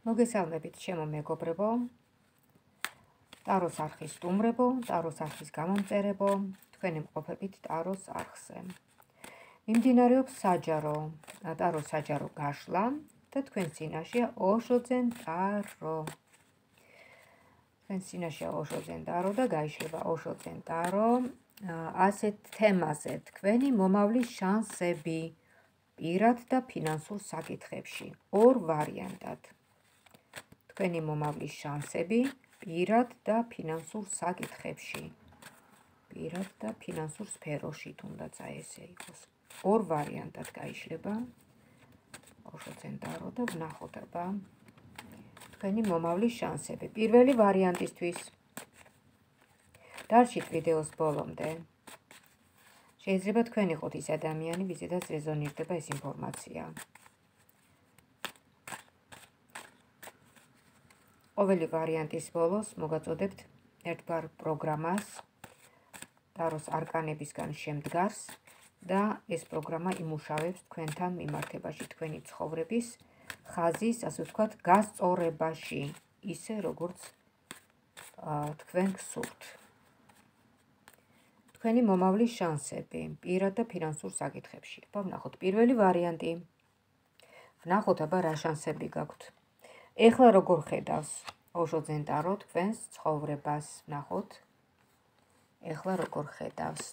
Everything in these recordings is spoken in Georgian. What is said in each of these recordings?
მოგესალმებით, ჩემო მეგობრებო, ტაროს არხის სტუმრებო, ტაროს არხის გამომწერებო, თქვენი მყოფებით ტაროს არხზე. მიმდინარეობს ტაროს საჯარო გაშლა და თქვენ წინაშეა ოშოძენ ტარო. თქვენ წინაშეა ოშოძენ ტარო და გაიშლება ოშოძენ ტარო ასეთ თემაზე, თქვენი მომავლის შანსები პირად და ფინანსურ საკითხებში, ორ ვარიანტად. თქვენი მომავლის შანსები პირად და ფინანსურ საკითხებში, პირად და ფინანსურ სფეროში, თუნდაც ესე იყოს. ორ ვარიანტად გაიშლება ოშოძენ ტარო და ვნახოთ აბა თქვენი მომავლის შანსები. პირველი ვარიანტისთვის დარჩით ვიდეოს ბოლომდე. შეიძლება თქვენ იყოთ ის ადამიანი, ვიზედაც რეზონირდება ეს ინფორმაცია. ყოველი ვარიანტის ბოლოს მოგაწოდებთ ერთგვარ პროგრამას, ტაროს არკანებისგან შემდგარს და ეს პროგრამა იმუშავებს თქვენთან მიმართებაში, თქვენი ცხოვრების ხაზის, ასე ვთქვათ, გასწორებაში, ისე როგორც თქვენ გსურთ. თქვენი მომავლის შანსები პირად და ფინანსურ საკითხებში. ვნახოთ პირველი ვარიანტი. ვნახოთ აბა რა შანსები გაქვთ. ეხლა როგორ ხედავს ოშოძენ ტარო თქვენს ცხოვრებას, ვნახოთ. ეხლა როგორ ხედავს.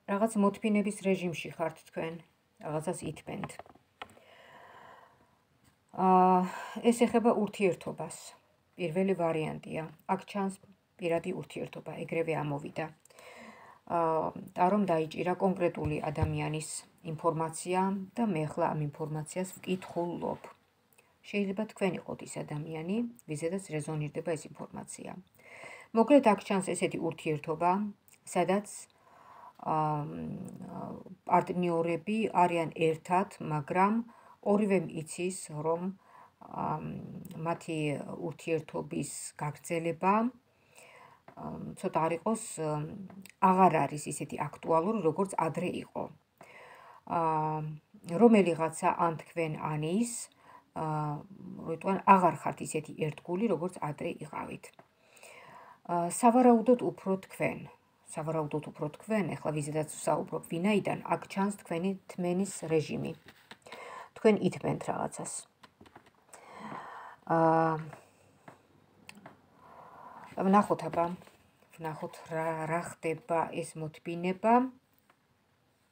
რაღაც მოთმინების რეჟიმში ხართ თქვენ, რაღაცას ითმენთ. ეს ეხება ურთიერთობას. პირველი ვარიანტია. აქ ჩანს პირადი ურთიერთობა, ეგრევე ამოვიდა. ტარომ დაიჭირა კონკრეტული ადამიანის ინფორმაცია და მე ახლა ამ ინფორმაციას ვკითხულობ. შეიძლება თქვენ იყოთ ის ადამიანი, ვიზედაც რეზონირდება ეს ინფორმაცია. მოკლედ აქ ჩანს ესეთი ურთიერთობა, სადაც პარტნიორები არიან ერთად, მაგრამ ორივემ იცის, რომ მათი ურთიერთობის გაგრძელება ცოტა არ იყოს, აღარ არის ისეთი აქტუალური, როგორც ადრე იყო. რომელიღაცა ან თქვენ ან ის, როიტყვან აღარ ხართ ისეთი ერთგული, როგორც ადრე იყავით. სავარაუდოდ უფრო თქვენ, ეხლა ვიზედაც ვსაუბრობ, ვინაიდან აქ ჩანს თქვენი თმენის რეჟიმი. თქვენ ითმენთ რაღაცას. ვნახოთ აბა, რა ხდება ეს მოთმინება,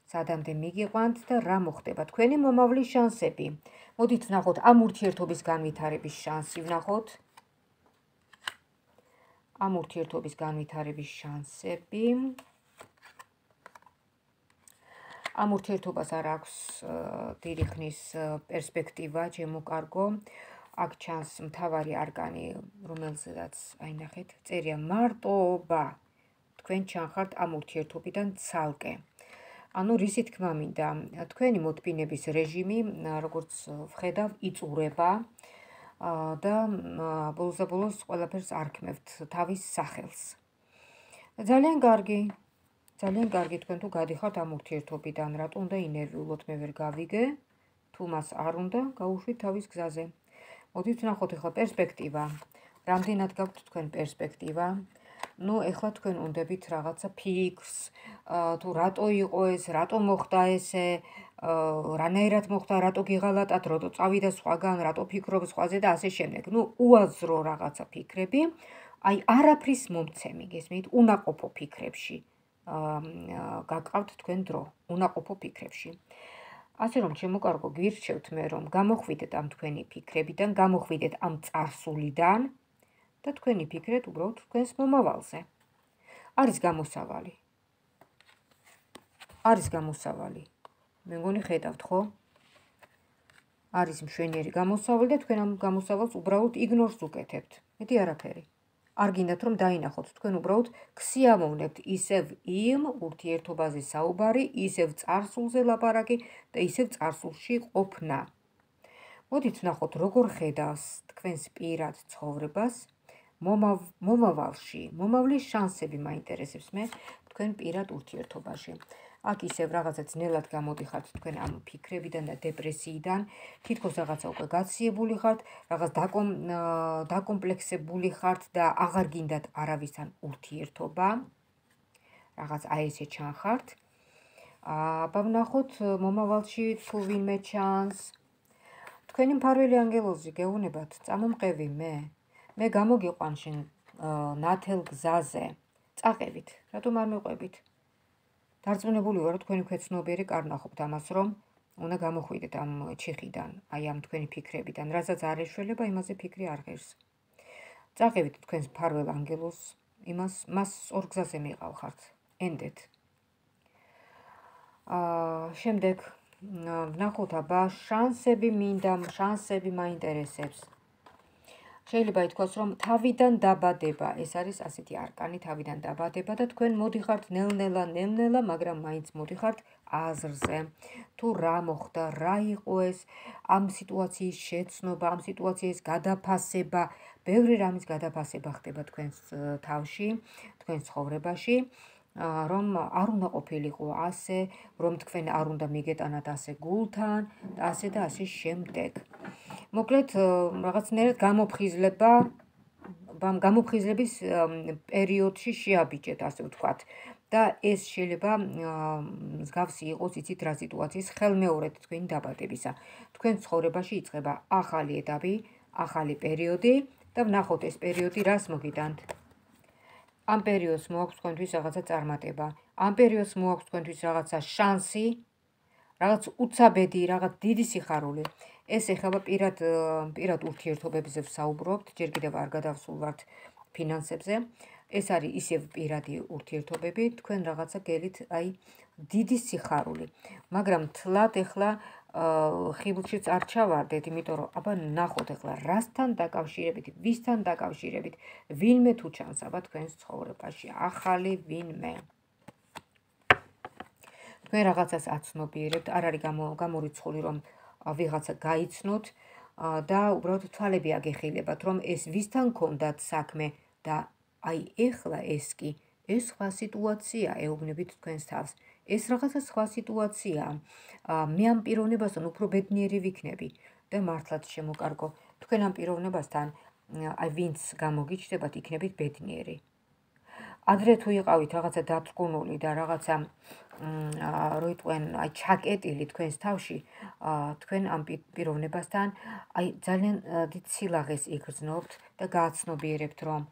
სადამდე მიგიყვანთ და რა მოხდება. თქვენი მომავლის შანსები. მოდით ვნახოთ ამ ურთიერთობის განვითარების შანსი, ვნახოთ. ამ ურთიერთობის განვითარების შანსები. ამ ურთიერთობას არ აქვს დიდი ხნის პერსპექტივა, ჩემო კარგო. აქ ჩანს მთავარი არკანი, რომელზედაც აი ნახეთ, წერია მარტოობა. თქვენ ჩანხართ ამ ურთიერთობიდან ცალკე. ანუ რისი თქმა მინდა, თქვენი მოთმინების რეჟიმი, როგორც ვხედავ, იწურება და ბოლოს ყველაფერს არქმევთ თავის სახელს. ძალიან კარგი, თქვენ თუ გადიხართ ამ ურთიერთობიდან, რატო უნდა ინერვიულოთ, მე ვერ გავიგე, თუ მას არ უნდა, გაუშვით თავის გზაზე. მოდით ვნახოთ ეხლა პერსპექტივა. რამდენად გაქვთ თქვენ პერსპექტივა? ეხლა თქვენ უნდებით რაღაცა ფიქრს, თუ რატო იყო ეს, რატო მოხდა ესე, რანაირად მოხდა, რატო გიღალატათ, რატო წავიდა სხვაგან, რატო ფიქრობ სხვაზე და ასე შემდეგ. უაზრო რაღაცა ფიქრები, აი არაფრის მომცემი, გესმით, უნაყოფო ფიქრებში გაკავთ თქვენ დრო, უნაყოფო ფიქრებში. ასე რომ, ჩემო კარგო, გვირჩევთ მე, რომ გამოხვიდეთ ამ თქვენი ფიქრებიდან, გამოხვიდეთ ამ წარსულიდან და თქვენი ფიქრეთ უბრალოდ თქვენს მომავალზე. არის გამოსავალი. მე მგონი ხედავთ, ხო? არის მშვენიერი გამოსავალი და თქვენ ამ გამოსავალს უბრალოდ იგნორს უკეთებთ. მეტი არაფერი. არ გინდათ რომ დაინახოთ, თქვენ უბრალოდ ქსიამოვნებთ ისევ იმ ურთიერთობაზე საუბარი, ისევ წარსულზე ლაპარაკი და ისევ წარსულში ყოფნა. მოდით ვნახოთ, როგორ ხედავს თქვენს პირად ცხოვრებას მომავლის შანსები მაინტერესებს მე თქვენ პირად ურთიერთობაში. აქ ისევ რაღაცა ძნელად გამოდიხართ თქვენ ამ ფიქრებიდან და დეპრესიიდან, თითქოს რაღაცა უკვე გაციებული ხართ, რაღაც დაკომპლექსებული ხართ და აღარ გინდათ არავისთან ურთიერთობა. რაღაც აი ესე ჩანხართ. აბა ვნახოთ მომავალში თუ ვინმე ჩანს. თქვენი მფარველი ანგელოზი გეუბნებათ, წამომყევი მე გამოგიყვან შენ ნათელ გზაზე. წაყევით, რატომ არ მეყვებით? დარწმუნებული ვარ, თქვენი ქვეცნობიერი კარნახობთ ამას, რომ უნდა გამოხვიდეთ ამ ჩიხიდან, აი ამ თქვენი ფიქრებიდან, რასაც არ ეშველება, იმაზე ფიქრი არ ღირს. წაყევით თქვენს მფარველ ანგელოზს, მას ორ გზაზე მიყავხართ. ენდეთ. შემდეგ ვნახოთ, აბა შანსები მინდა, შანსები მაინტერესებს. შეიძლება ითქვას, რომ თავიდან დაბადება, ეს არის ასეთი არკანი, თავიდან დაბადება და თქვენ მოდიხართ ნელ-ნელა, მაგრამ მაინც მოდიხართ აზრზე. თუ რა მოხდა, რა იყო ეს, ამ სიტუაციის შეცნობა, ამ სიტუაციის გადაფასება, ბევრი რამის გადაფასება ხდება თქვენს თავში, თქვენს ცხოვრებაში. რომ არ უნდა ყოფილიყო ასე, რომ თქვენ არ უნდა მიგეტანათ ასე გულთან და ასე და ასე შემდეგ. მოკლედ რაღაცნაირად გამოფხიზლების პერიოდში შეაბიჭეთ, ასე ვთქვათ. და ეს შეიძლება მსგავსი იყოს, იცით რა სიტუაციის ხელმეორედ თქვენი დაბადებისა. თქვენ ცხოვრებაში იწყება ახალი ეტაპი, ახალი პერიოდი და ვნახოთ ეს პერიოდი რას მოგიტანთ. ამ პერიოდს მოაქვს თქვენთვის რაღაცა წარმატება, ამ პერიოდს მოაქვს თქვენთვის რაღაცა შანსი, რაღაც უცაბედი, რაღაც დიდი სიხარული. ეს ეხება პირად ურთიერთობებზე ვსაუბრობთ, ჯერ კიდევ არ გადავსულვართ ფინანსებზე. ეს არის ისევ პირადი ურთიერთობები, თქვენ რაღაცა გელით, აი დიდი სიხარული. მაგრამ თლად ეხლა ხიბლშიც არ ჩავარდეთ, იმიტომ რომ აბა ნახოთ ეხლა რასთან დაკავშირებით, ვისთან დაკავშირებით, ვინმე თუ ჩანს აბა თქვენს ცხოვრებაში, ახალი ვინმე. თქვენ რაღაცას აცნობიერებთ, არ არის გამორიცხული, რომ ვიღაცა გაიცნოთ და უბრალოდ თვალები აგეხილებათ, რომ ეს ვისთან გქონდათ საქმე და აი ეხლა ეს კი, ეს სხვა სიტუაცია, ეუბნებით თქვენს თავს. ეს რაღაცა სხვა სიტუაციაა. მე ამ პიროვნებასთან უფრო ბედნიერი ვიქნები და მართლაც შემოკარგო. თქვენ ამ პიროვნებასთან, აი ვინც გამოგიჩნდებათ, იქნებით ბედნიერი. ადრე თუ იყავით რაღაცა დათრგუნული და რაღაცა რო იტყვენ, აი ჩაკეტილი თქვენს თავში, თქვენ ამ პიროვნებასთან აი ძალიან დიდ სილაღეს იგრძნობთ და გააცნობიერებთ, რომ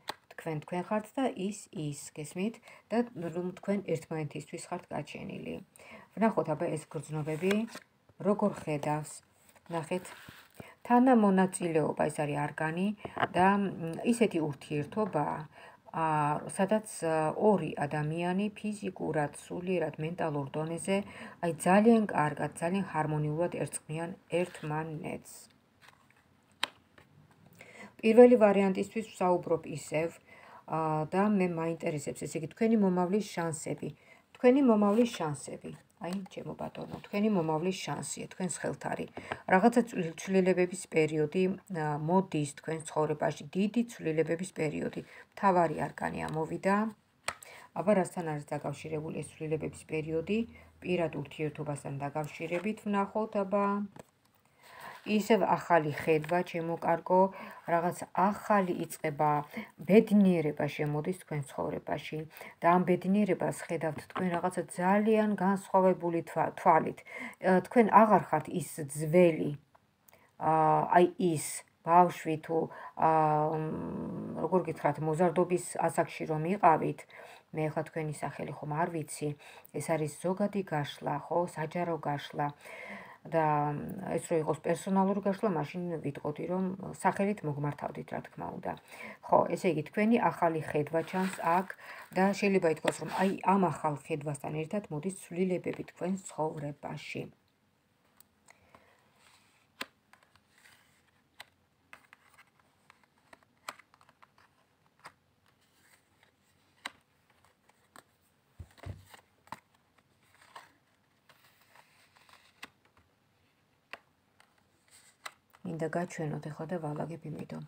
თქვენ ხართ და ის გესმით და რომ თქვენ ერთმანეთისთვის ხართ გაჩენილი. ვნახოთ აბა ეს გრძნობები როგორ ხედავს. ნახეთ, თანამონაწილეობა, ეს არის არგანი და ისეთი ურთიერთობაა, სადაც ორი ადამიანი ფიზიკურად, სულიერად, მენტალურ დონეზე აი ძალიან კარგად, ძალიან ჰარმონიულად ერწყმიან ერთმანეთს. პირველი ვარიანტისთვის ვსაუბრობ ისევ და მე მაინტერესებს, ესე იგი თქვენი მომავლის შანსები. თქვენი მომავლის შანსები. აი, ჩემო ბატონო, თქვენი მომავლის შანსია, თქვენს ხელთ არის. რაღაცა ცვლილებების პერიოდი მოდის თქვენს ცხოვრებაში, დიდი ცვლილებების პერიოდი. მთავარი არკანი ამოვიდა. აბა რასთან არის დაკავშირებული ეს ცვლილებების პერიოდი? პირად ურთიერთობასთან დაკავშირებით ვნახოთ, აბა ისევ ახალი ხედვა, ჩემო კარგო, რაღაც ახალი იწყება, ბედნიერება შემოდის თქვენ ცხოვრებაში და ამ ბედნიერებას ხედავთ თქვენ რაღაცა ძალიან განსხვავებული თვალით. თქვენ აღარ ხართ ის ძველი, აი ის ბავშვი თუ როგორ გითხრათ, მოზარდობის ასაკში რომ იყავით, მე ახლა თქვენი სახელი ხომ არ ვიცი, ეს არის ზოგადი გაშლა, ხო, საჯარო გაშლა. და ეს რო იყოს პერსონალური გაშლა, მაშინ ვიტყოდი, რომ სახელით მოგმართავდით, რა თქმა უნდა. ხო, ესე იგი თქვენი ახალი ხედვა ჩანს აქ და შეიძლება ითქვას, რომ აი ამ ახალ ხედვასთან ერთად მოდის ცვლილებები თქვენს ცხოვრებაში. მინდა გაჩვენოთ ეხლა და ვალაგებ იმიტომ.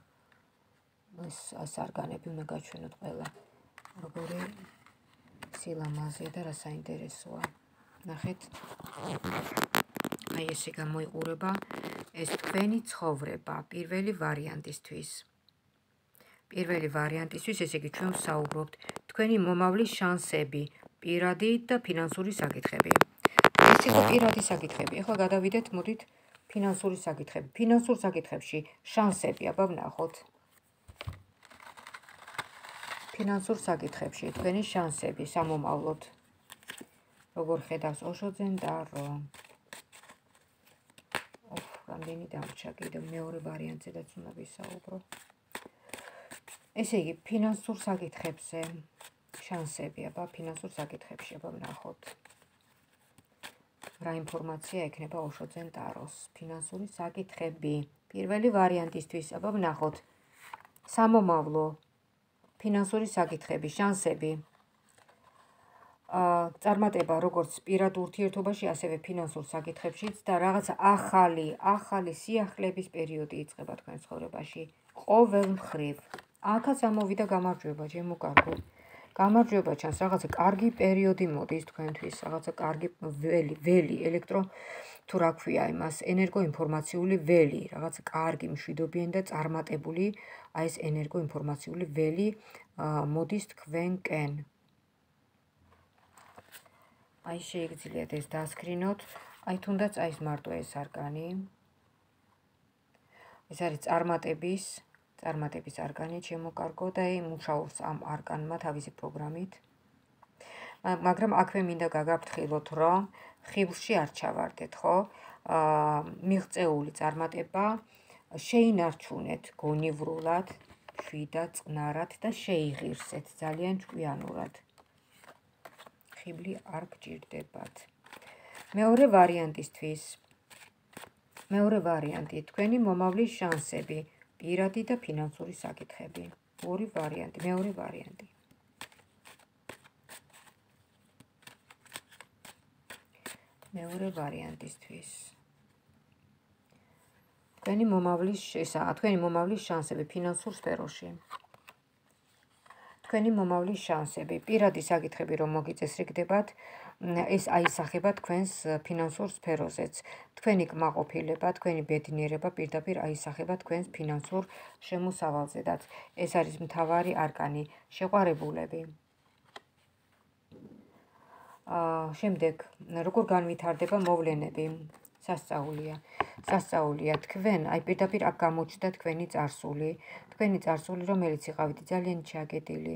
ეს სარგანები უნდა გაჩვენოთ ყველა, როგორი სილამაზეა და რა საინტერესოა. ნახეთ, აი ესე გამოიყურება ეს თქვენი ცხოვრება პირველი ვარიანტისთვის. პირველი ვარიანტისთვის, ესე იგი ჩვენ ვსაუბრობთ თქვენი მომავლის შანსები, პირადი და ფინანსური საკითხები. ეს იყო პირადი საკითხები. ეხლა გადავიდეთ, მოდით ფინანსური საკითხები. ფინანსურ საკითხებში შანსები, აბა ვნახოთ. ფინანსურ საკითხებში თქვენი შანსები სამომავლოდ. როგორ ხედავს ოშოძენ დარო. რამდენი დამრჩა კიდევ მეორე ვარიანტზედაც უნდა ვისაუბრო. ესე იგი, ფინანსურ საკითხებზე შანსები, აბა ფინანსურ საკითხებში, აბა ვნახოთ. რა ინფორმაცია ექნება ოშოძენ დაროს. ფინანსური საკითხები. პირველი ვარიანტისთვის, აბა ვნახოთ. სამომავლო, ფინანსური საკითხები, შანსები. წარმატება როგორც პირად ურთიერთობაში, ასევე ფინანსურ საკითხებშიც და რაღაცა ახალი სიახლეების პერიოდი იწყება თქვენ ცხოვრებაში. ყოველ მხრივ. აქაც ამოვიდა გამარჯვება, ჩემო კარგო. გამარჯვება ჩანს, რაღაცა კარგი პერიოდი მოდის თქვენთვის, რაღაცა კარგი ველი, ელექტრო თუ რა ქვია იმას, ენერგოინფორმაციული ველი, რაღაცა კარგი, მშვიდობიანი და წარმატებული, აი ეს ენერგოინფორმაციული ველი მოდის თქვენკენ. აი შეიგძლიათ ეს დასკრინოთ, აი თუნდაც აი ეს მარტო ეს არგანი. ეს არის წარმატების არგანი, ჩემო კარგო და მუშაობს ამ არგანმა თავისი პროგრამით. მაგრამ აქვე მინდა გაგაფრთხილოთ, რომ ხიბლში არ ჩავარდეთ, ხო? მიღწეული წარმატება შეინარჩუნეთ გონივრულად, შვიდად, წყნარად და შეიღირსეთ ძალიან ჭკვიანურად. ხიბლი არ გჭირდებათ. მეორე ვარიანტი, თქვენი მომავლის შანსები, პირადი და ფინანსური საკითხები. მეორე ვარიანტი. მეორე ვარიანტისთვის. თქვენი მომავლის შანსები ფინანსურ სფეროში. თქვენი მომავლის შანსები, პირადი საკითხები რომ მოგიწესრიგდებათ, ეს აისახება თქვენს ფინანსურ სფეროზეც. თქვენი კმაყოფილება, თქვენი ბედნიერება პირდაპირ აისახება თქვენს ფინანსურ შემოსავალზედაც. ეს არის მთავარი არკანი, შეყვარებულები. შემდეგ, როგორ განვითარდება მოვლენები, სასწაულია თქვენ, აი პირდაპირ აქ გამოჩნდა თქვენი წარსული, რომელიც იყავით ძალიან ჩაგედილი.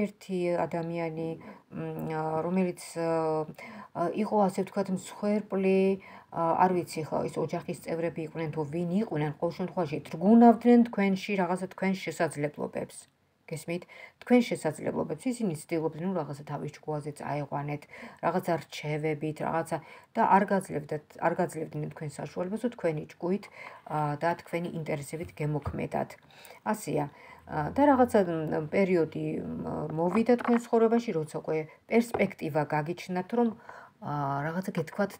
ერთი ადამიანი, რომელიც იყო ასე ვთქვათ მსხვერპლი, არ ვიცი ხო, ის ოჯახის წევრები იყვნენ თუ ვინ იყვნენ, ყოველ შემთხვევაში თრგუნავდნენ თქვენში რაღაცა თქვენს შესაძლებლობებს. გესმით? თქვენ შესაძლებლობებს ისინი ცდილობდნენ რაღაცა თავის ჭკუაზე წაეყვანეთ, რაღაცა რჩევებით, რაღაცა და არ გაძლევდნენ თქვენ საშუალებას, რომ თქვენი ჭკუით და თქვენი ინტერესებით გემოქმედათ. ასეა. და რაღაცა პერიოდი მოვიდა თქვენ ცხოვრებაში, როცა უკვე პერსპექტივა გაგიჩნდათ, რომ რაღაცა გეთქვათ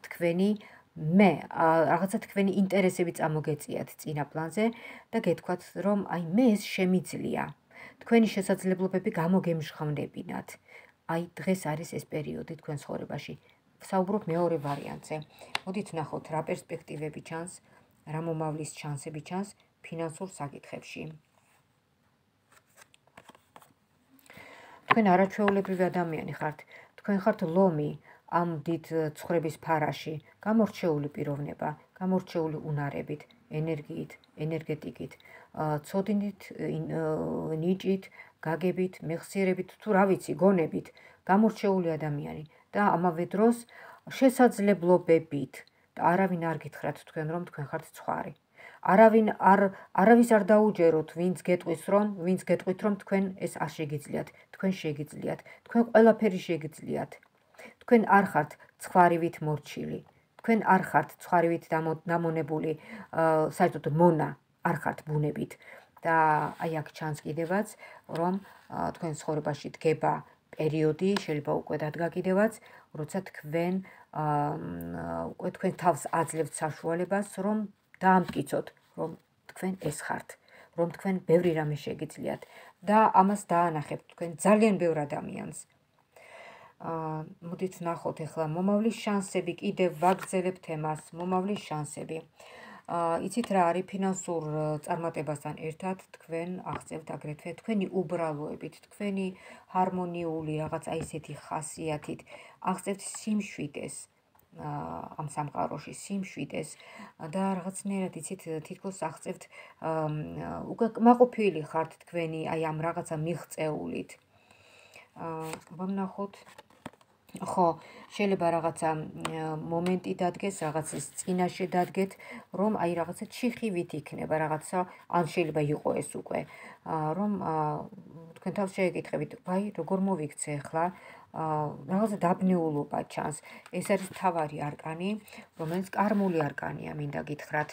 რაღაცა თქვენი ინტერესები წამოგეწიათ წინა პლანზე და გეთქვათ, რომ აი მე ეს შემიძლია. თქვენი შესაძლებლობები გამოგემჟღავნებინათ. აი დღეს არის ეს პერიოდი თქვენ ცხოვრებაში. ვსაუბრობ მეორე ვარიანტზე. მოდით ვნახოთ რა პერსპექტივები ჩანს, რა მომავლის შანსები ჩანს ფინანსურ საკითხებში. თქვენ არაჩვეულებრივი ადამიანი ხართ. თქვენ ხართ ლომი ამ დიდ ცხრების ფარაში, გამორჩეული პიროვნება, გამორჩეული უნარებით, ენერგიით, ენერგეტიკით, ცოდნით, ნიჭით, გაგებით, მეხსიერებით, თუ რა ვიცი, გონებით, გამორჩეული ადამიანი და ამავე დროს შესაძლებლობებით და არავინ არ გითხრათ თქვენ რომ თქვენ ხართ ცხვარი. არავის არ დაუჯეროთ, ვინც გეტყვით რომ თქვენ ეს არ შეგიძლიათ, თქვენ შეგიძლიათ, თქვენ ყველაფერი შეგიძლიათ. თქვენ არ ხართ ცხვარივით მორჩილი, თქვენ არ ხართ ცხვარივით დამონებული, საერთოდ მონა არ ხართ ბუნებით და აი აქ ჩანს კიდევაც, რომ თქვენ ცხოვრებაში დგება პერიოდი, შეიძლება უკვე დადგა კიდევაც, როცა თქვენ თავს აძლევთ საშუალებას, რომ დაამტკიცოთ, რომ თქვენ ეს ხართ, რომ თქვენ ბევრი რამე შეგიძლიათ და ამას დაანახებთ თქვენ ძალიან ბევრ ადამიანს. მოდით ნახოთ ახლა მომავლის შანსები, კიდევ ვაგრძელებთ თემას, მომავლის შანსები. იცით რა არის ფინანსურ წარმატებასთან ერთად თქვენ აღწევთ აგრეთვე თქვენი უბრალოებით, თქვენი ჰარმონიული რაღაც აი ესეთი ხასიათით აღწევთ სიმშვიდეს ამ სამყაროში, სიმშვიდეს და რაღაცნაირად იცით თითქოს აღწევთ უკვე კმაყოფილი ხართ თქვენი აი ამ რაღაცა მიღწეულით. ვნახოთ ხო, შეიძლება რაღაცა მომენტი დადგეს, რაღაცის წინაშე დადგეთ, რომ აი რაღაცა ჩიხივით იქნება, რაღაცა ან შეიძლება იყო ეს უკვე, რომ თქვენ თავს შეეკითხებით, ვაი, როგორ მოვიქცე ახლა, რაღაცა დაბნეულობა ჩანს. ეს არის მთავარი არკანი, რომელიც კარმული არკანია, მინდა გითხრათ.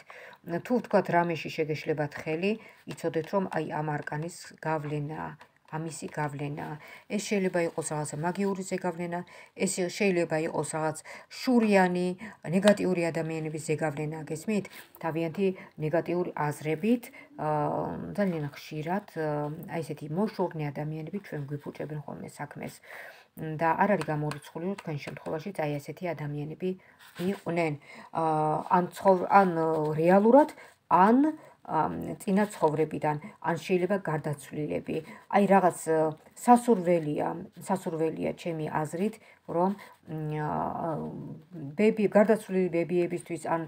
თუ ვთქვათ რამეში შეგეშლებათ ხელი, იცოდეთ რომ აი ამ არკანის გავლენაა. ამისი გავლენაა. ეს შეიძლება იყოს რაღაცა მაგიური ზეგავლენა, ეს შეიძლება იყოს რაღაც შურიანი, ნეგატიური ადამიანების ზეგავლენა, გესმით? თავიანთი ნეგატიური აზრებით, ძალიან ხშირად აი ესეთი მოშორნე ადამიანები ჩვენ გვიფუჭებენ ხოლმე საქმეს. და არ არის გამორიცხული, რომ თქვენ შემთხვევაშიც აი ესეთი ადამიანები იყვნენ. ან რეალურად, ან წინა ცხოვრებიდან, ან შეიძლება გარდაცვლილები. აი რაღაც სასურველია ჩემი აზრით, რომ გარდაცვლილი ბებიებისთვის ან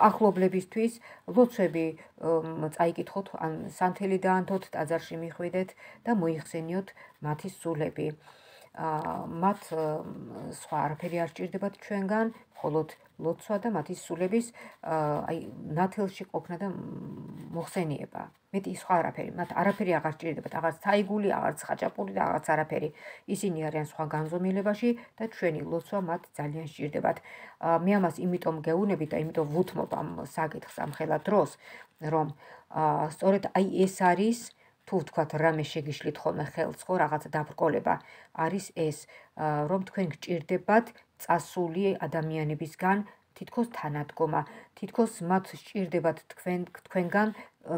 ახლობლებისთვის ლოცვები წაიკითხოთ, ან სანთელი დაანთოთ, ტაძარში მიხვიდეთ და მოიხსენიოთ მათი სულები. მათ სხვა არაფერი არ სჭირდებათ ჩვენგან, მხოლოდ ლოცვა და მათი სულების აი ნათელში ყოფნა და მოხსენიება. მეტი სხვა არაფერი, მათ არაფერი აღარ სჭირდებათ, აღარც თაიგული, აღარც ხაჭაპური და აღარც არაფერი. ისინი არიან სხვა განზომილებაში და ჩვენი ლოცვა მათ ძალიან სჭირდებათ. მე ამას იმიტომ გეუბნებით და იმიტომ ვუთმობ ამ საკითხს ამ ხელა დროს, რომ სწორედ აი ეს არის თუ ვთქვათ რამე შეგიშლით ხოლმე ხელს, ხო, რაღაცა დაბრკოლება არის ეს, რომ თქვენ გჭირდებათ წასული ადამიანებისგან თითქოს თანადგომა, თითქოს მათ სჭირდებათ თქვენგან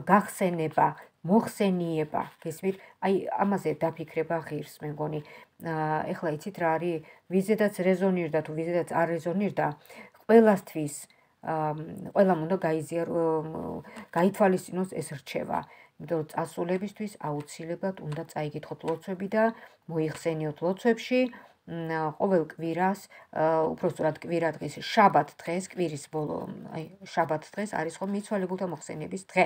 გახსენება, მოხსენიება, გესმით? აი ამაზე დაფიქრება ღირს, მე მგონი. ეხლა იცით რა არის, ვიზედაც რეზონირდა თუ ვიზედაც არ რეზონირდა, ყველასთვის ყველამ უნდა გაითვალისწინოს ეს რჩევა. იმიტომ რომ წასულებისთვის აუცილებლად უნდა წაიკითხოთ ლოცვები და მოიხსენიოთ ლოცვებში. ყოველ კვირას, უпростоრად კვირა დღის შაბათ დღეს, კვირის ბოლო, აი შაბათ დღეს არის ხოლმე მიცვალებულთა მოხსენების დღე.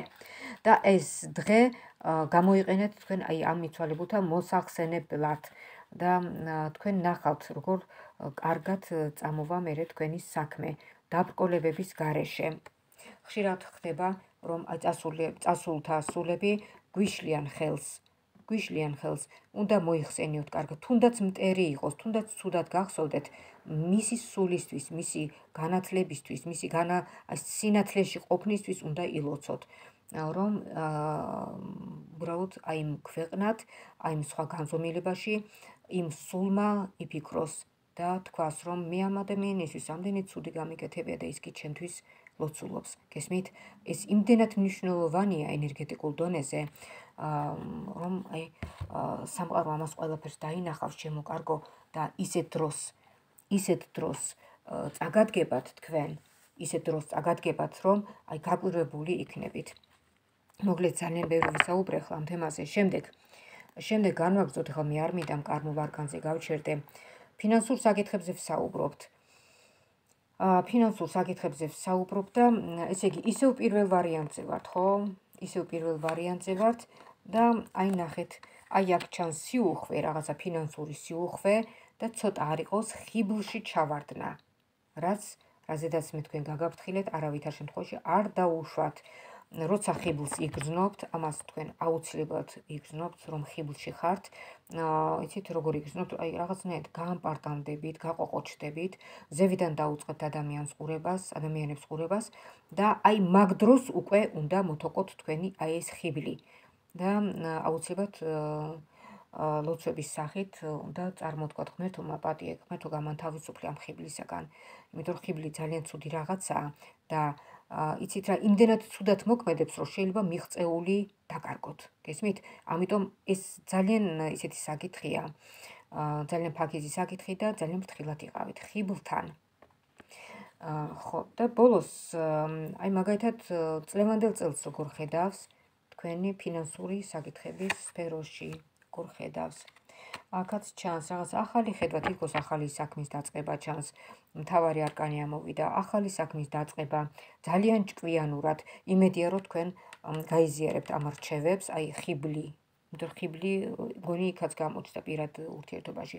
და ეს დღე გამოიყენეთ თქვენ აი ამ მიცვალებულთა მოსახსენებლად და თქვენ ნახავთ როგორ კარგად წამოვა მერე თქვენი საქმე დაბრკოლებების გარეშე. ხშირად ხდება რომ აი წასულთა სულები გვიშლიან ხელს, უნდა მოიხსენიოთ კარგად, თუნდაც მტერი იყოს, თუნდაც ცუდად გახსოვდეთ, მისი სულისთვის, მისი განათლებისთვის, მისი სინათლეში ყოფნისთვის უნდა ილოცოთ, რომ უბრალოდ აი იმ ქვეყნად, აი იმ სხვა განზომილებაში, იმ სულმა იფიქროს და თქვას, რომ მე ამ ადამიანისთვის ამდენი ცუდი გამიკეთებია და ის კი ჩემთვის ლოცულობს. გესმით? ეს იმდენად მნიშვნელოვანია ენერგეტიკულ დონეზე, რომ აი სამყარო ამას ყველაფერს დაინახავს ჩემო კარგო და ისეთ დროს წაგადგებათ თქვენ, რომ აი გაკვირვებული იქნებით. მოკლედ ძალიან ბევრი ვისაუბრე ახლა ამ თემაზე. შემდეგ განვაგრძოთ, ახლა მე არ მინდა კარმულ არკანზე გავჩერდე. ფინანსურ საკითხებზე ვსაუბრობთ. და ესე იგი ისევ პირველ ვარიანტზე ვართ, ხო? ისევ პირველ ვარიანტზე ვართ და აი ნახეთ, აი აქ ჩანს სიუხვე, რაღაცა ფინანსური სიუხვე და ცოტა არ იყოს ხიბლში ჩავარდნა. რაზედაც მე თქვენ გაგაფრთხილეთ, არავითარ შემთხვევაში არ დაუშვათ. როცა ხიბლს იგრძნობთ, ამას თქვენ აუცილებლად იგრძნობთ, რომ ხიბლში ხართ. იცით როგორ იგრძნობთ, აი რაღაცნაირად გაამპარტანდებით, გაყოყოჩდებით, ზევიდან დაუწყებთ ადამიანებს ყურებას და აი მაგ დროს უკვე უნდა მოთოყოთ თქვენი აი ეს ხიბლი და აუცილებლად ლოცვების სახით უნდა წარმოთქვათ ღმერთო მაპატიე, ღმერთო გამანთავისუფლე ამ ხიბლისაგან, იმიტომ რომ ხიბლი ძალიან ცუდი რაღაცაა და იცით რა, იმდენად ცუდად მოქმედებს, რომ შეიძლება მიღწეული დაკარგოთ. გესმით? ამიტომ ეს ძალიან ისეთი საკითხია, ძალიან ფაქიზი საკითხი და ძალიან ფრთხილად იყავით ხიბლთან. ხო, და ბოლოს, აი მაგალითად, წლევანდელ წელს როგორ ხედავს თქვენი ფინანსური საკითხების სფეროში, როგორ ხედავს? აქაც ჩანს რაღაც ახალი ხედვა, თითქოს ახალი საქმის დაწყება ჩანს, მთავარი არკანი ამოვიდა, ახალი საქმის დაწყება, ძალიან ჭკვიანურად, იმედია რომ თქვენ გაიზიარებთ ამ რჩევებს, აი ხიბლი, იმიტომ ხიბლი გონი იქაც გამოჩნდა პირად ურთიერთობაში.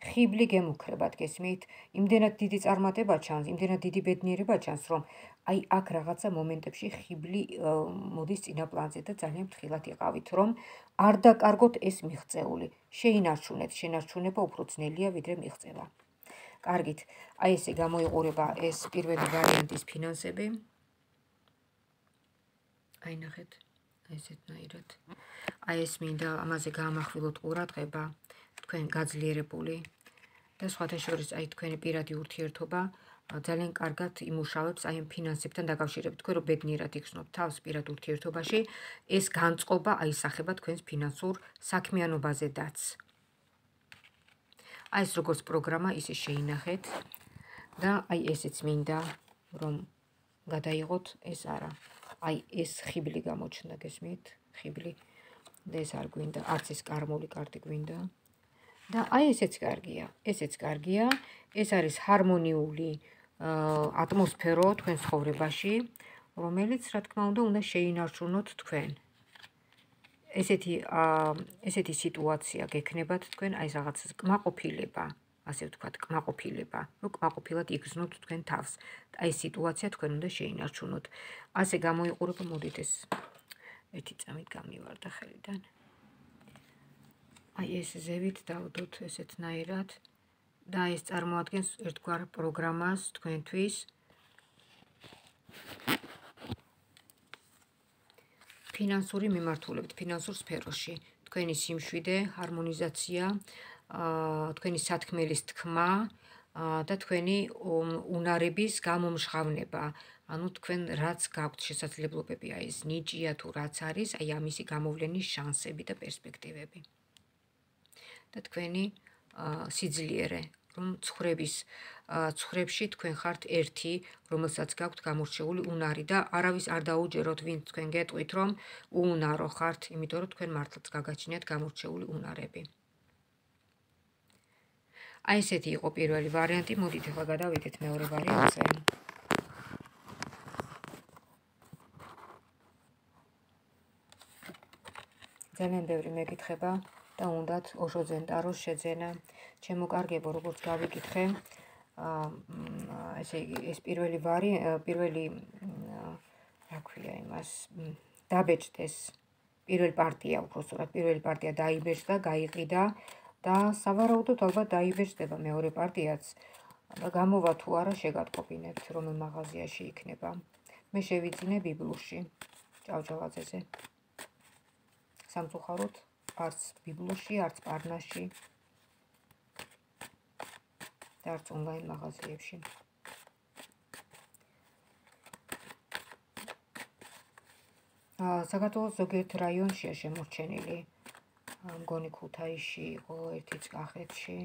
ხიბლი გემუქრებათ, გესმით? იმდენად დიდი წარმატება ჩანს, იმდენად დიდი ბედნიერება ჩანს, რომ აი აქ რაღაცა მომენტებში ხიბლი მოდის წინა პლანზე და ძალიან ფრთხილად იყავით, რომ არ დაკარგოთ ეს მიღწეული. შეინარჩუნეთ, შენარჩუნება უფრო ძნელია ვიდრე მიღწევა. კარგით, აი ესე გამოიყურება ეს პირველი ვარიანტის ფინანსები. აი ნახეთ, ესეთნაირად. აი ეს მინდა ამაზე გაამახვილოთ ყურადღება, თქვენ გაძლიერებული და სხვათა შორის აი თქვენი პირადი ურთიერთობა ძალიან კარგად იმუშავებს აი ამ ფინანსებთან დაკავშირებით. თქვენ რო ბედნიერად იქნოთ თავს პირად ურთიერთობაში, ეს განწყობა აისახება თქვენს ფინანსურ საქმიანობაზედაც. აი ეს როგორც პროგრამა, ისე შეინახეთ და აი ესეც მინდა რომ გადაიღოთ, ეს არა. აი ეს ხიბლი გამოჩნდა, გესმით? ხიბლი და ეს არ გვინდა, არც ეს კარმული კარტი გვინდა. და აი ესეც კარგია, ესეც კარგია, ეს არის ჰარმონიული ატმოსფერო თქვენ ცხოვრებაში, რომელიც, რა თქმა უნდა შეინარჩუნოთ თქვენ. ესეთი სიტუაცია გექნებათ თქვენ, აი რაღაც კმაყოფილება, ასე ვთქვათ, კმაყოფილება, რომ კმაყოფილად იგრძნოთ თქვენ თავს. აი ეს სიტუაცია თქვენ უნდა შეინარჩუნოთ. ასე გამოიყურება, მოდით ეს ერთი წამით გამივარდა ხელიდან. აი ეს ზევით დავდოთ ესეთნაირად და ეს წარმოადგენს ერთგვარ პროგრამას თქვენთვის. ფინანსური მიმართულებით, ფინანსურ სფეროში, თქვენი სიმშვიდე, ჰარმონიზაცია, თქვენი სათქმელის თქმა და თქვენი უნარების გამომჟღავნება. ანუ თქვენ რაც გაქვთ შესაძლებლობები, აი ეს ნიჭია თუ რაც არის, აი ამისი გამოვლენის შანსები და პერსპექტივები. და თქვენი სიძლიერე, რომ ცხრებში თქვენ ხართ ერთი, რომელსაც გაქვთ გამორჩეული უნარი და არავის არ დაუჯეროთ, ვინც თქვენ გეტყვით, რომ უუნარო ხართ, იმიტომ რომ თქვენ მართლაც გაგაჩნიათ გამორჩეული უნარები. აი ესეთი იყო პირველი ვარიანტი, მოდით ახლა გადავიდეთ მეორე ვარიანტზე. ძალიან ბევრი მეკითხება და უნდათ ოშოძენ ტაროს შეძენა. ჩემო კარგებო, როგორც გავიკითხე, ესე იგი ეს პირველი რა ქვია იმას, დაბეჭდეს პირველი პარტია, უბრალოდ პირველი პარტია დაიბეჭდა, გაიყიდა და სავარაუდოდ ალბათ დაიბეჭდება მეორე პარტიაც და გამოვა თუ არა შეგატყობინებთ, რომელ მაღაზიაში იქნება. მე შევიძინე ბიბლუში, ჭავჭავაძეზე. სამწუხაროდ არც ბიბლუში, არც პარნასში და არც ონლაინ მაღაზიებში. საქართველოს ზოგიერთ რაიონშია შემორჩენილი, მგონი ქუთაისში იყო, ერთიც კახეთში.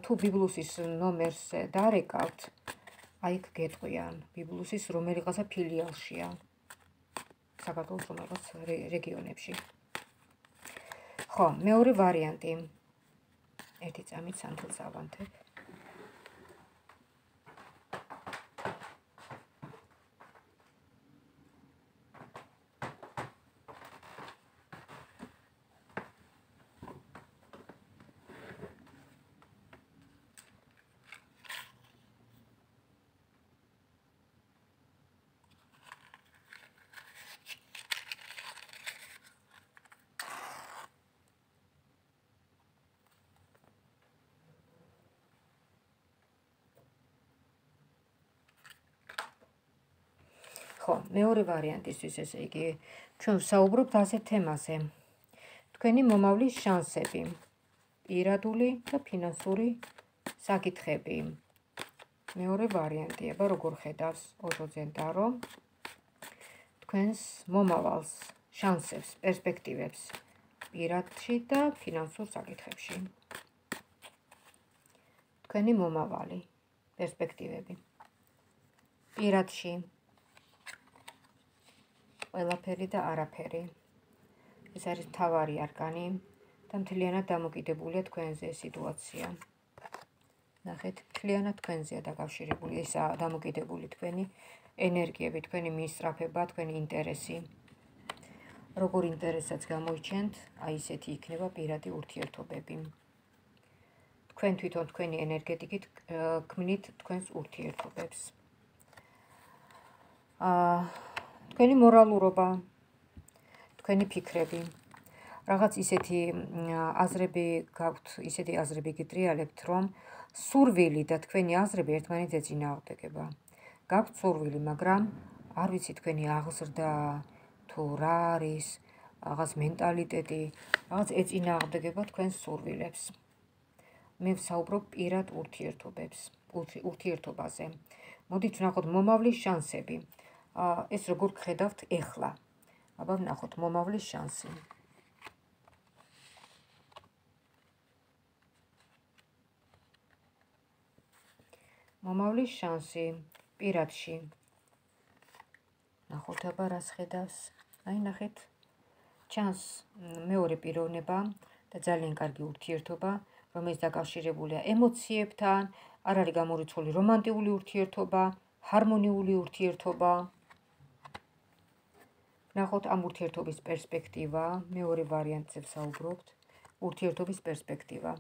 თუ ბიბლუსის ნომერს დარეკავთ, აი იქ გეტყვიან, ბიბლუსის რომელიღაცა ფილიალშია. საქართველოს რომელიღაც რეგიონებში. ხო, მეორე ვარიანტი. ერთი წამით სანთელს ავანთებ. ხო, მეორე ვარიანტისთვის, ესე იგი, ჩვენ ვსაუბრობთ ასეთ თემაზე. თქვენი მომავლის შანსები, პირადული და ფინანსური საკითხები. მეორე ვარიანტია, როგორ ხედავს ოჯო ზენდარო თქვენს მომავალს, შანსებს, პერსპექტივებს პირადში და ფინანსურ საკითხებში. თქვენი მომავალი, პერსპექტივები. პირადში ყველაფერი და არაფერი. ეს არის მთავარი არკანი და მთლიანად დამოკიდებულია თქვენზე სიტუაცია. ნახეთ, მთლიანად თქვენზეა დაკავშირებული, ესაა დამოკიდებული თქვენი ენერგიები, თქვენი მისწრაფება, თქვენი ინტერესი. როგორ ინტერესაც გამოიჩენთ, აი ესეთი იქნება პირადი ურთიერთობები. თქვენ თვითონ თქვენი ენერგეტიკით ქმნით თქვენს ურთიერთობებს. თქვენი მორალურობა, თქვენი ფიქრები, რაღაც ისეთი აზრები გაქვთ, ისეთი აზრები გიტრიალებთ, რომ სურვილი და თქვენი აზრები ერთმანეთს ეწინააღმდეგება. გაქვთ სურვილი, მაგრამ არ ვიცი თქვენი აღზრდა თუ რა არის, რაღაც მენტალიტეტი, რაღაც ეწინააღმდეგება თქვენს სურვილებს. მე ვსაუბრობ პირად ურთიერთობაზე. მოდით ვნახოთ მომავლის შანსები. ეს როგორ გხედავთ ეხლა? აბა ვნახოთ მომავლის შანსი. მომავლის შანსი პირადში. ნახოთ აბა რას ხედავს. აი ნახეთ. ჩანს მეორე პიროვნება და ძალიან კარგი ურთიერთობა, რომელიც დაკავშირებულია ემოციებთან, არ არის გამორიცხული რომანტიკული ურთიერთობა, ჰარმონიული ურთიერთობა. ნახოთ ამ ურთიერთობის პერსპექტივა, მეორე ვარიანტზე ვსაუბრობთ, ურთიერთობის პერსპექტივა.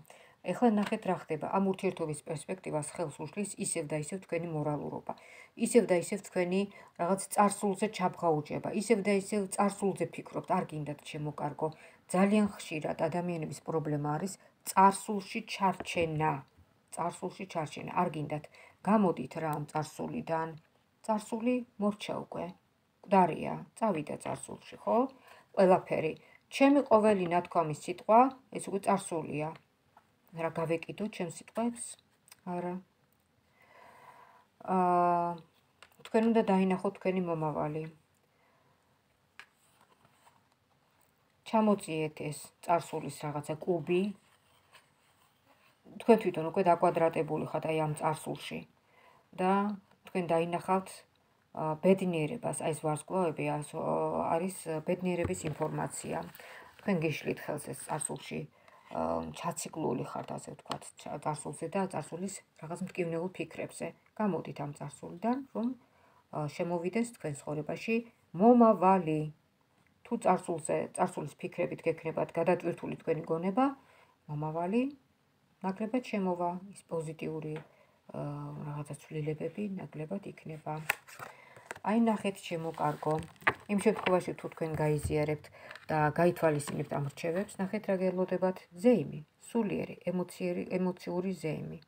ეხლა ნახეთ რა ხდება, ამ ურთიერთობის პერსპექტივას ხელს უშლის ისევ და ისევ თქვენი მორალურობა, ისევ და ისევ თქვენი რაღაც წარსულზე ჩაბღაუჭება, ისევ და ისევ წარსულზე ფიქრობთ, არ გინდათ ჩემო კარგო. ძალიან ხშირად ადამიანების პრობლემა არის წარსულში ჩარჩენა. არ გინდათ გამოდით რა ამ წარსულიდან. წარსული მორჩა უკვე. მკვდარია, წავიდა წარსულში, ხო? ყველაფერი. ჩემი ყოველი ნათქვამის სიტყვა, ეს უკვე წარსულია. რა გავეკიდო ჩემს სიტყვებს? არა. თქვენ უნდა დაინახოთ თქვენი მომავალი. ჩამოწიეთ ეს წარსულის რაღაცა კუბი. თქვენ თვითონ უკვე დაკვადრატებული ხართ აი ამ წარსულში და თქვენ დაინახავთ ბედნიერებას, აი ეს ვარსკვლავები არის ბედნიერების ინფორმაცია. თქვენ გიშლით ხელს ეს წარსულში ჩაციკლული ხართ, ასე ვთქვათ, წარსულზე და წარსულის რაღაც მტკივნეულ ფიქრებზე. გამოდით ამ წარსულიდან, რომ შემოვიდეს თქვენ ცხოვრებაში მომავალი. თუ წარსულის ფიქრებით გექნებათ გადატვირთული თქვენი გონება, მომავალი ნაკლებად შემოვა, ის პოზიტიური რაღაცა ცვლილებები ნაკლებად იქნება. აი ნახეთ ჩემო კარგო. იმ შემთხვევაში თუ თქვენ გაიზიარებთ და გაითვალისწინებთ ამ რჩევებს, ნახეთ რა გელოდებათ, ზეიმი, სულიერი, ემოციური ზეიმი.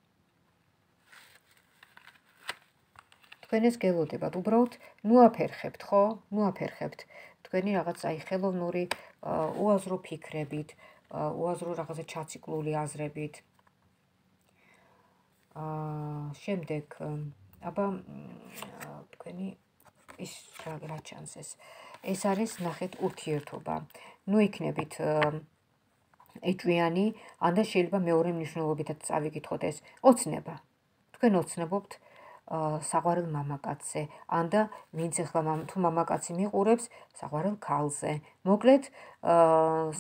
თქვენ ეს გელოდებათ, უბრალოდ ნუაფერხებთ, ხო? ნუაფერხებთ თქვენი რაღაც აი ხელოვნური უაზრო ფიქრებით, უაზრო რაღაცა ჩაციკლული აზრებით. შემდეგ აბა თქვენი ის რა ჩანს ეს არის ნახეთ ურთიერთობა. ნუ იქნებით ეჭვიანი, ან და შეიძლება მეორე მნიშვნელობითაც წავიკითხოთ ეს ოცნება. თქვენ ოცნებობთ საყვარელ მამაკაცზე, ან და ვინც ახლა თუ მამაკაცი მიყურებს საყვარელ ქალზე. მოკლედ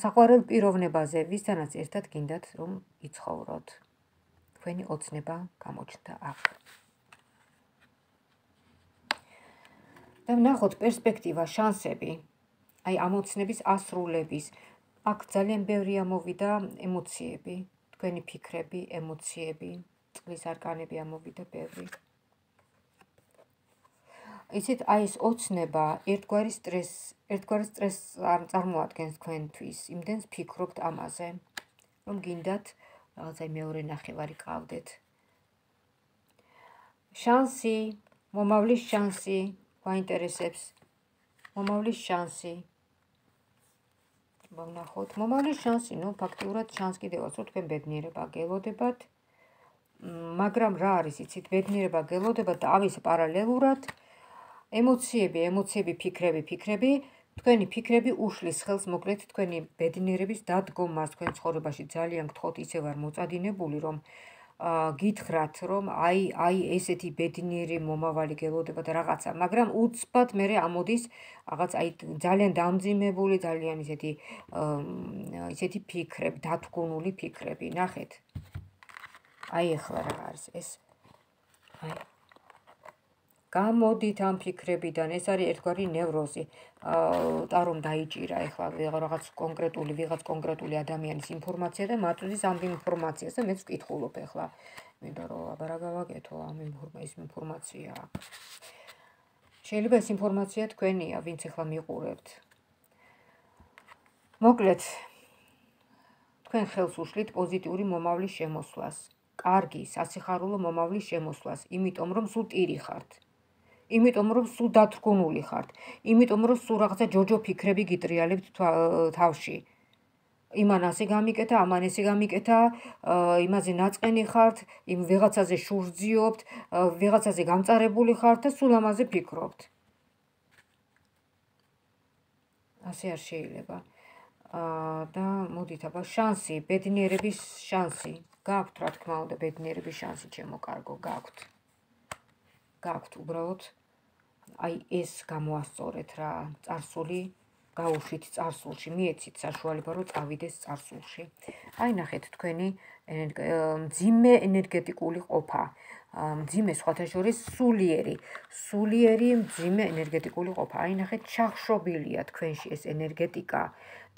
საყვარელ პიროვნებაზე, ვისთანაც ერთად გინდათ რომ იცხოვროთ. თქვენი ოცნება გამოჩნდა აქ. და ვნახოთ პერსპექტივა, შანსები, აი ამ ოცნების ასრულების. აქ ძალიან ბევრი ამოვიდა ემოციები, თქვენი ფიქრები, ემოციები, წყლის არკანები ამოვიდა ბევრი. იცით, აი ეს ოცნება ერთგვარი სტრესს წარმოადგენს თქვენთვის, იმდენს ფიქრობთ ამაზე, რომ გინდათ რაღაცა მეორე ნახევარი ყავდეთ. შანსი, მომავლის შანსი, გვაინტერესებს. მომავლის შანსი. ვნახოთ, მომავლის შანსი, ნუ ფაქტიურად შანს კიდევაც, რომ თქვენ ბედნიერება გელოდებათ. მაგრამ რა არის იცით, ბედნიერება გელოდება და ამის პარალელურად ემოციები, ფიქრები, თქვენი ფიქრები უშლის ხელს მოკლედ თქვენი ბედნიერების დადგომას თქვენ ცხოვრებაში ძალიან გთხოვთ ისე ვარ მოწადინებული რომ გითხრათ რომ აი ესეთი ბედნიერი მომავალი გელოდება და რაღაცა, მაგრამ უცბად მერე ამოდის რაღაც აი ძალიან დამძიმებული, ძალიან ისეთი ფიქრები, დათგუნული ფიქრები. ნახეთ. აი ახლა რა არის ეს? აი გამოდით ამ ფიქრებიდან, ეს არის ერთგვარი ნევროზი. ტარომ დაიჭირა ახლა ვიღაც კონკრეტული ადამიანის ინფორმაცია და მაწვდის ამ ინფორმაციას და მეც ვკითხულობ ახლა. მინდა რომ აბა რა გავაკეთო ამ ინფორმაცია. შეიძლება ეს ინფორმაცია თქვენია, ვინც ახლა მიყურებთ. მოკლედ, თქვენ ხელს უშლით პოზიტიური მომავლის შემოსვლას. კარგი, სასიხარულო მომავლის შემოსვლას, იმიტომ რომ სულ ტირი ხართ. იმიტომ რომ სულ დათრგუნული ხართ, იმიტომ რომ სულ რაღაცა ჯოჯო ფიქრები გიტრიალებთ თავში. იმან ასე გამიკეთა, ამან ესე გამიკეთა, იმაზე ნაწყენი ხართ, იმ ვიღაცაზე შურძიობთ, ვიღაცაზე გამწარებული ხართ და სულ ამაზე ფიქრობთ. ასე არ შეიძლება. და მოდით აბა შანსი, ბედნიერების შანსი. გაქვთ რა თქმა უნდა ბედნიერების შანსი, ჩემო კარგო, გაქვთ. გაქვთ უბრალოდ აი ეს გამოასწორეთ რა წარსული გაუშვით წარსულში მიეცით საშუალება რომ წავიდეს წარსულში აი ნახეთ თქვენი მძიმე ენერგეტიკული ყოფა მძიმე სხვათა შორის სულიერი მძიმე ენერგეტიკული ყოფა აი ნახეთ ჩახშობილია თქვენში ეს ენერგეტიკა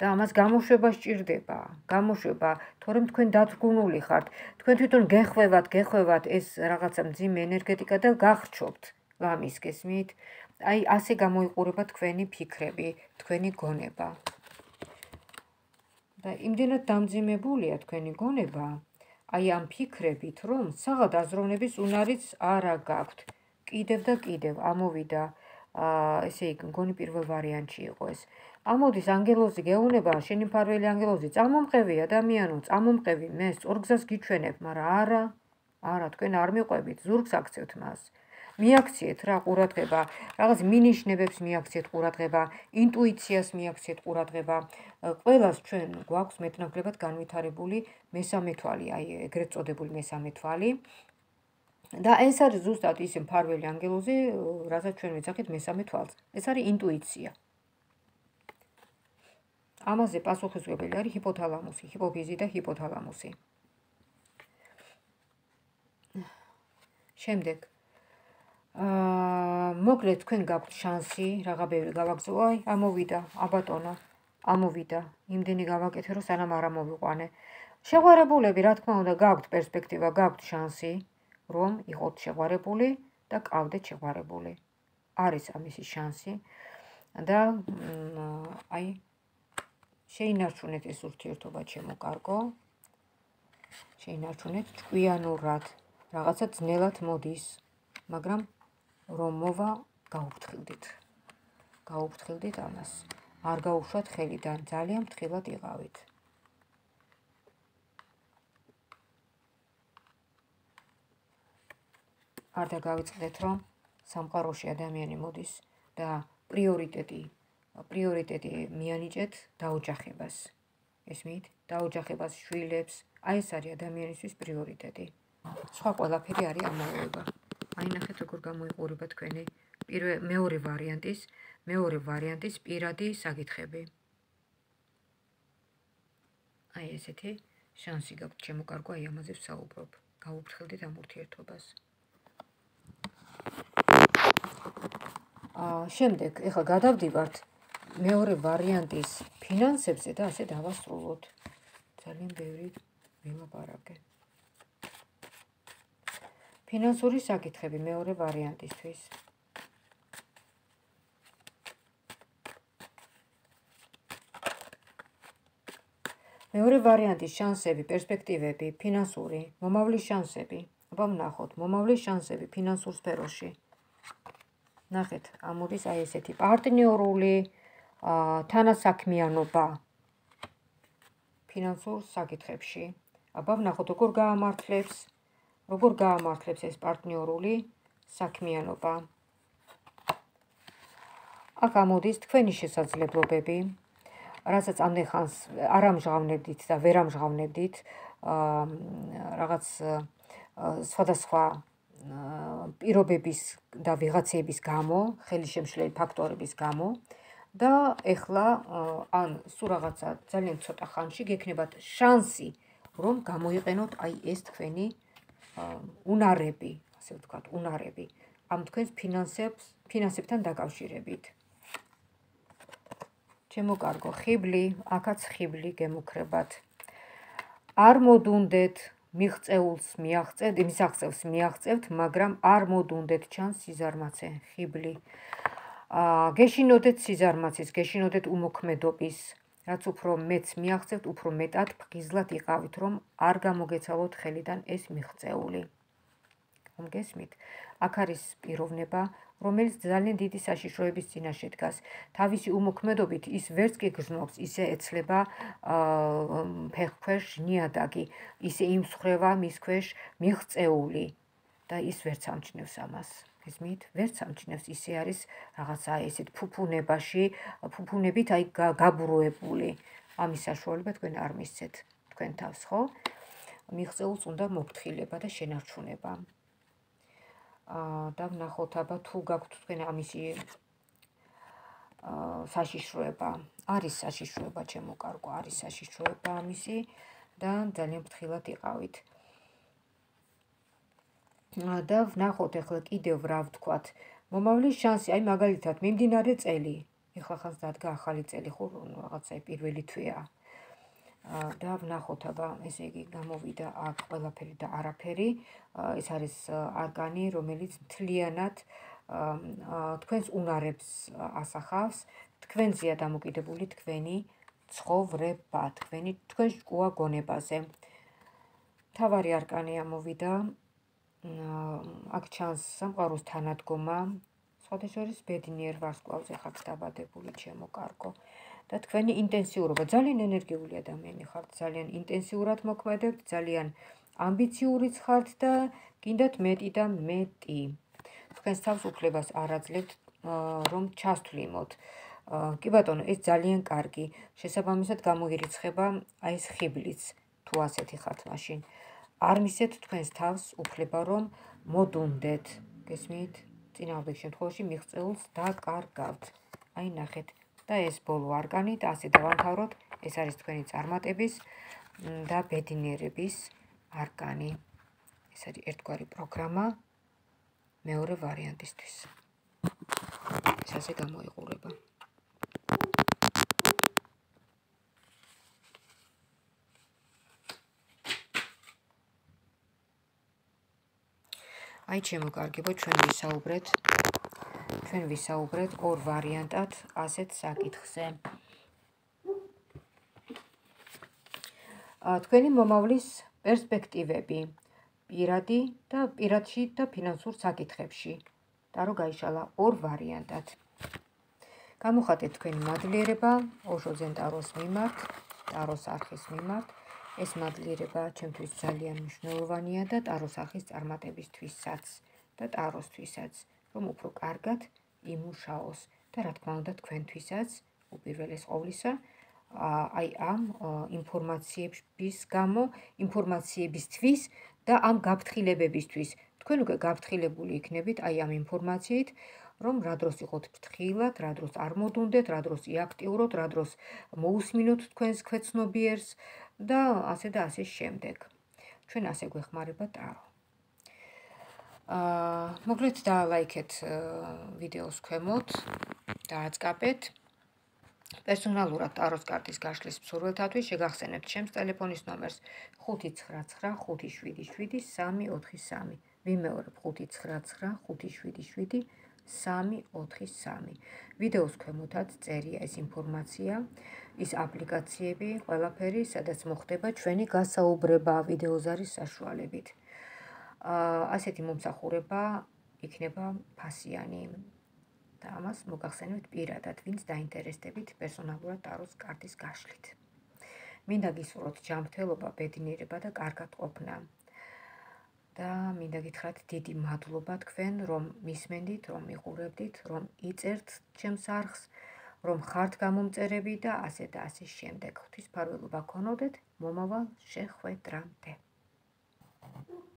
და ამას გამოშვება სჭირდება გამოშვება თორემ თქვენ დათრგუნული ხართ თქვენ თვითონ გეხვევათ ეს რაღაცა მძიმე ენერგეტიკა და გახრჩობთ ლამის გესმით აი ასე გამოიყურება თქვენი ფიქრები თქვენი გონება და იმდენად დამძიმებულია თქვენი გონება აი ამ ფიქრებით რომ საღად აზროვნების უნარიც არა გაქვთ კიდევ და კიდევ ამოვიდა ესე იგი მგონი პირველ ვარიანტში იყო ეს ამოდის ანგელოზი გეუნება შენი მფარველი ანგელოზი წამომყევი ადამიანო წამომყევი მე სწორგზას გიჩვენებ მაგრამ არა თქვენ არ მიყვებით ზურგს აქცევთ მას მიაქციეთ რა ყურადღება რაღაც მინიშნებებს მიაქციეთ ყურადღება ინტუიციას მიაქციეთ ყურადღება ყველას ჩვენ გვაქვს მეტნაკლებად განვითარებული მესამე თვალი აი ეგრეთ წოდებული მესამე თვალი და ეს არის ზუსტად ის მფარველი ანგელოზი რასაც ჩვენ ვეძახით მესამე თვალს ეს არის ინტუიცია ამაზე პასუხისმგებელი არის ჰიპოთალამუსი ჰიპოფიზი და ჰიპოთალამუსი შემდეგ მოკლედ თქვენ გაქვთ შანსი რაღა ბევრი გავაგზო აი ამოვიდა აბატონო ამოვიდა იმდენი გავაკეთე რომ სანამ არ ამოვიყვანე შეღვარებულები რა თქმა უნდა გაქვთ პერსპექტივა გაქვთ შანსი რომ იყოთ შეღვარებული და გყავდეთ შეღვარებული არის ამისი შანსი და აი შეინარჩუნეთ ეს ურთიერთობა ჩემო კარგო შეინარჩუნეთ ჭკვიანურად რაღაცა ძნელად მოდის მაგრამ რომ მოვა გაუფრთხილდით ამას არ გაუშვათ ხელიდან ძალიან ფრთხილად იყავით არ დაგავიწყდეთ რომ სამყაროში ადამიანი მოდის და პრიორიტეტი მიანიჭეთ დაოჯახებას ესმით დაოჯახებას შვილებს აი ეს არის ადამიანისთვის პრიორიტეტი სხვა ყველაფერი არის ამოუება აი ნახეთ როგორ გამოიყურება თქვენი მეორე ვარიანტის პირადი საკითხები აი ესეთი შანსი გაქვთ ჩემო კარგო აი ამაზე ვსაუბრობ გაუფრთხილდით ამ ურთიერთობას შემდეგ ეხლა გადავდივართ მეორე ვარიანტის ფინანსებზე და ასე დავასრულოთ ძალიან ბევრი ვილაპარაკე ფინანსური საკითხები მეორე ვარიანტისთვის მეორე ვარიანტის შანსები, პერსპექტივები, ფინანსური, მომავლის შანსები. აბა ვნახოთ, მომავლის შანსები ფინანსურ სფეროში. ნახეთ, ამოდის აი ესეთი პარტნიორული თანასაქმიანობა ფინანსურ საკითხებში. აბა ვნახოთ, როგორ გაამართლებს როგორ გაამართლებს ეს პარტნიორული საქმიანობა. აქ ამოდის თქვენი შესაძლებლობები, რასაც ამდენ ხანს არ ამჟღავნებდით და ვერ ამჟღავნებდით, რაღაც სხვადასხვა პირობების და ვიღაცების გამო, ხელისშემშლელი ფაქტორების გამო და ეხლა ან სულ რაღაცა ძალიან ცოტა ხანში გექნებათ შანსი, რომ გამოიყენოთ აი ეს თქვენი უნარები, ასე ვთქვათ, უნარები ამ თქვენს ფინანსებთან დაკავშირებით. ჩემო კარგო, ხიბლი, აქაც ხიბლი გემუქრებათ. არ მოდუნდეთ მიღწეულს მიაღწევთ, მაგრამ არ მოდუნდეთ ჩანს სიზარმაცე, ხიბლი. გეშინოდეთ სიზარმაცის, გეშინოდეთ უმოქმედობის, რაც უფრო მეც მიაღწევთ, უფრო მეტად ფხიზლად იყავით, რომ არ გამოგეცალოთ ხელიდან ეს მიღწეული. გესმით? აქ არის პიროვნება, რომელიც ძალიან დიდი საშიშროების წინაშე დგას. თავისი უმოქმედობით ის ვერც კი გრძნობს, ისე ეცლება ფეხქვეშ ნიადაგი, ისე იმსხვრევა მის ქვეშ მიღწეული და ის ვერც ამჩნევს ამას. გესმით? ვერც ამჩნევს, ისე არის რაღაცა ესეთ ფუფუნებით აი გაბრუებული. ამის საშუალება თქვენ არ მისცეთ თქვენ თავს, ხო? მიღწეულს უნდა მოფრთხილება და შენარჩუნება. და ვნახოთ აბა თუ გაქვთ თქვენ ამისი საშიშროება. არის საშიშროება, ჩემო კარგო, არის საშიშროება ამისი და ძალიან ფრთხილად იყავით. და ვნახოთ ახლა კიდევ რა ვთქვათ. მომავლის შანსი, აი მაგალითად, მიმდინარე წელი. ეხლა ხანს დადგა ახალი წელი, ხო, რაღაცა პირველი თვეა. და ვნახოთ აბა, ესე იგი გამოვიდა აქ ყველაფერი და არაფერი. ეს არის არკანი, რომელიც მთლიანად თქვენს უნარებს ასახავს, თქვენზეა დამოკიდებული თქვენი ცხოვრება, თქვენ შკუა გონებაზე. მთავარი არკანი ამოვიდა. აქ ჩანს სამყაროს თანადგომა, სხვადასხვა ბედნიერ ვარსკვლავზე ხართ დაბადებული, ჩემო კარგო. და თქვენი ინტენსიურობა, ძალიან ენერგიული ადამიანი ხართ, ძალიან ინტენსიურად მოქმედებთ, ძალიან ამბიციურიც ხართ და გინდათ მეტი და მეტი. თქვენს თავს უფლებას არ აძლევთ, რომ ჩასთვლიმოთ. კი ბატონო, ეს ძალიან კარგი. შესაბამისად გამოირიცხება აი ეს ხიბლიც, თუ ასეთი ხართ მაშინ. არ მისცეთ თქვენს თავს უფლება, რომ მოდუნდეთ. გესმით? წინააღმდეგ შემთხვევაში მიღწეულს დაკარგავთ. აი ნახეთ. და ეს ბოლო არკანი და ასე დავამთავროთ. ეს არის თქვენი წარმატების და ბედნიერების არკანი. ეს არის ერთგვარი პროგრამა მეორე ვარიანტისთვის. ეს ასე გამოიყურება. აი ჩემო კარგებო, ჩვენ ვისაუბრეთ ორ ვარიანტად ასეთ საკითხზე. თქვენი მომავლის პერსპექტივები პირადში და ფინანსურ საკითხებში. ტარო გაიშალა ორ ვარიანტად. გამოხატეთ თქვენი მადლიერება ოშო ზენტაროს მიმართ, ტაროს არხის მიმართ. ეს მადლიერება ჩემთვის ძალიან მნიშვნელოვანია და ტაროს არხის წარმატებისთვისაც და ტაროსთვისაც, რომ უფრო კარგად იმუშაოს და რა თქმა უნდა თქვენთვისაც უპირველეს ყოვლისა, აი ამ ინფორმაციებისთვის და ამ გაფრთხილებებისთვის. თქვენ უკვე გაფრთხილებული იქნებით აი ამ ინფორმაციით, რომ რა დროს იყოთ ფრთხილად, რა დროს არ მოდუნდეთ, რა დროს იაქტიუროთ, რა დროს მოусმინოთ თქვენს ქვეცნობიერს და ასე და ასე შემდეგ. ჩვენ ასე გვეხმარება ტარო. მოკლედ დაალაიქეთ ვიდეოს ქვემოთ, დააწყაბეთ. პერსონალურად ტაროს კარტის გაშლის მსურველთათვის შეგახსენებთ ჩემს ტელეფონის ნომერს 599577343. ვიმეორებ 599577343. ვიდეოს ქვემოთაც წერია ეს ინფორმაცია, ის აპლიკაციები, ყველაფერი, სადაც მოხდება ჩვენი გასაუბრება ვიდეოზარის საშუალებით. ასეთი მომსახურება იქნება ფასიანი. და ამას მოგახსენებთ პირადად, ვინც დაინტერესდებით პერსონალურად ტაროს კარტის გაშლით. მინდა გისურვოთ ჯანმრთელობა, ბედნიერება და კარგად ყოფნა. და მინდა გითხრათ დიდი მადლობა თქვენ, რომ მისმენდით, რომ მიყურებდით, რომ იწერთ ჩემს არხს, რომ ხართ გამომწერები და ასე შემდეგ. ღვთისმფარველობა გქონოდეთ, მომავალ შეხვედრამდე.